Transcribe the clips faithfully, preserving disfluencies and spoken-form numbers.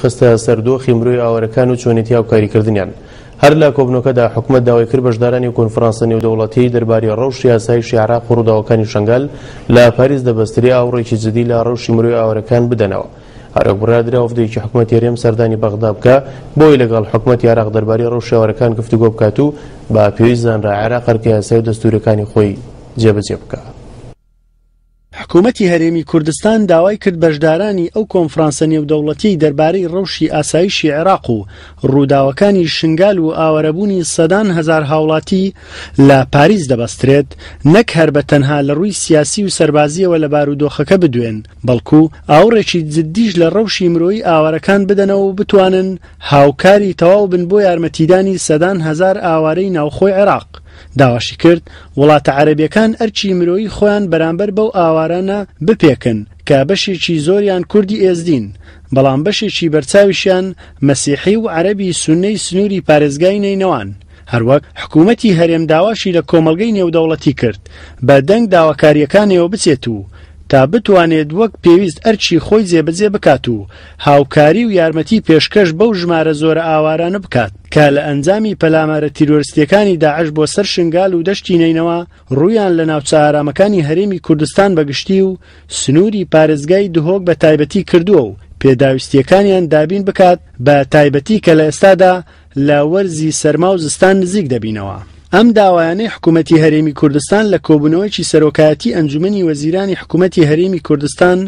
خستە سەر دۆخی مرۆی ئاوارەکان و چۆنێتی هاوکاریکردنیان. هەر لە کۆبوونەوەکەدا حکومەت داوای کرد بەشدارانی کۆنفرانسە نێودەوڵەتی دەربارەی ڕەوشی ئاسایشی عێراق و ڕووداوەکانی شەنگال لە پاریس دەبەسترێ ئاوڕێکی جدی لە ڕەوشی مرۆی ئاوارەکان بدەنەوە. هەروەک بڕیاردرا وەفدێکی حکومەتی هەرێم سەردانی بەغدا بکە بۆی لەگەڵ حکومەتی عێراق دەربارەی ڕەوشی ئاوارەکان گفتوگۆ بکات و بە پێویست زانرا عێراق ئەرکە یاسایی و دەستوورەکانی خۆی جێبەجێ بکات. حکوومەتی هەرێمی کوردستان داوای کرد بەشدارانی ئەو کۆنفرانسە نێودەوڵەتی دەربارەی ڕەوشی ئاسایشی عێراق و ڕووداوەکانی شنگال و ئاوارەبوونی سەدان هەزار هاوڵاتی لە پاریس دەبەسترێت نەک هەر بە تەنها لە ڕووی سیاسی و سەربازیەوە لە بارودۆخەکە بدوێن، بەڵکو ئاوڕێکی جدیش لە ڕەوشی مرۆیی ئاوارەکان بدەنەوە و بتوانن هاوکاری تەواو بن بۆ یارمەتیدانی سەدان هەزار ئاوارەی ناوخۆی عێراق. داواشی کرد وڵاتە عەرەبیەکان ئەرکی مرۆیی خۆیان بەرامبەر بەو ئاوارانە بپێکن کە بەشێکی زۆریان کوردی ئێزدین، بەڵام بەشێکی بەرچاویشیان مەسیحی و عەرەبی سوننەی سنووری پارێزگای نەینەوان. هەروەک حکوومەتی هەرێم داواشی لە کۆمەڵگەی نێودەوڵەتی کرد بە دەنگ داواکاریەکانیەوە بچێت و تا بتوانێت وەک پێویست ئەرکی خۆی جێبەجێ بکات و هاوکاری و یارمەتی پێشکەش بەو ژمارە زۆرە ئاوارانە بکات کە لە ئەنجامی پەلامارە تیرۆریستیەکانی داعش بۆ سەر شنگال و دەشتی نەینەوا ڕوویان لە ناوچە ئارامەکانی هەرێمی کوردستان بەگشتی و سنووری پارێزگای دهۆک بە تایبەتی کردووە و پێداویستیەکانیان دابین بکات بە تایبەتی کە لە ئێستادا لە وەرزی سەرما و زستان نزیک دەبینەوە. ئەم داوایانەی حکوومەتی هەرێمی کوردستان لە کۆبوونەوەیەکی سەرۆکایەتی ئەنجومەنی وەزیرانی حکوومەتی هەرێمی کوردستان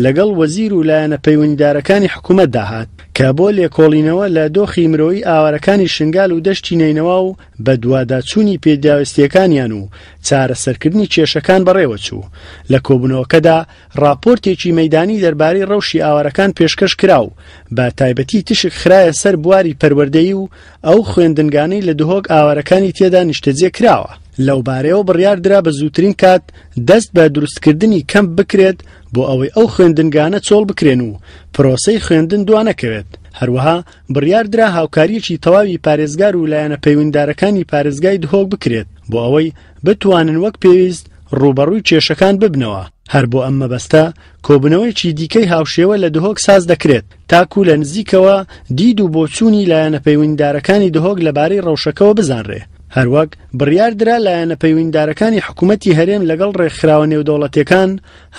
لەگەڵ وەزیر و لایەنە پەیوەندیدارەکانی حکوومەت داهات کە بۆ لێکۆڵینەوە لە دۆخی مرۆیی ئاوارەکانی شنگال و دەشتی نەینەوا و بەدواداچوونی پێداویستیەکانیان و چارەسەرکردنی کێشەکان بەڕێوەچوو. لە کۆبوونەوەکەدا راپۆرتێکی مەیدانی دەربارەی ڕەوشی ئاوارەکان پێشکەش کرا و بە تایبەتی تشک خرایە سەر بواری پەروەردەیی و ئەو خوێندنگانەی لە دهۆک ئاوارەکانی تێدا نیشتەجێ کراوە. لەو بارەیەوە بڕیاردرا بە زووترین کات دەست بە دروستکردنی کەمپ بکرێت بۆ ئەوەی ئەو خوێندنگانە چۆڵ بکرێن و پرۆسەی خوێندن دوانەکەوێت. هەروەها بڕیاردرا هاوکاریەکی تەواوی پارێزگار و لایەنە پەیوەندیدارەکانی پارێزگای دهۆک بکرێت بۆ ئەوەی بتوانن وەک پێویست ڕووبەڕووی کێشەکان ببنەوە. هەر بۆ ئەم مەبەستە کۆبوونەوەیەکی دیکەی هاوشێوە لە دهۆک ساز دەکرێت تاکو لە نزیکەوە دید و بۆچوونی لایەنە پەیوەندیدارەکانی دهۆک لەبارەی ڕەوشەکەوە بزانرێ. هەروەک بڕیاردرا لایەنە پەیوەندیدارەکانی حکوومەتی هەرێم لەگەڵ ڕێکخراوە نێودەوڵەتیەکان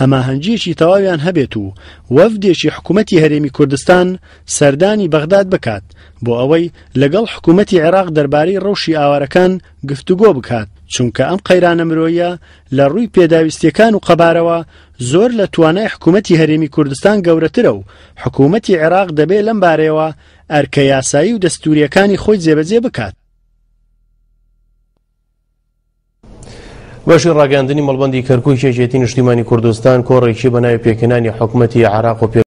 هەماهەنگیەکی تەواویان هەبێت و وەفدێکی حکوومەتی هەرێمی کوردستان سەردانی بەغداد بکات بۆ ئەوەی لەگەڵ حکوومەتی عێراق دەربارەی ڕەوشی ئاوارەکان گفتوگۆ بکات، چونکە ئەم قەیرانە مرۆیە لە ڕووی پێداویستیەکان و قەبارەوە زۆر لە توانای حکوومەتی هەرێمی کوردستان گەورەترە و حکوومەتی عێراق دەبێت لەم بارەیەوە ئەرکە یاسایی و دەستوریەکانی خۆی جێبەجێ بکات. بەشی ڕاگەاندنی مەڵبەندی کەرکووک یەکێتی نیشتیمانی کوردستان کۆڕێکی بە ناوی پێکهێنانی حکوومەتی عێراق و پێ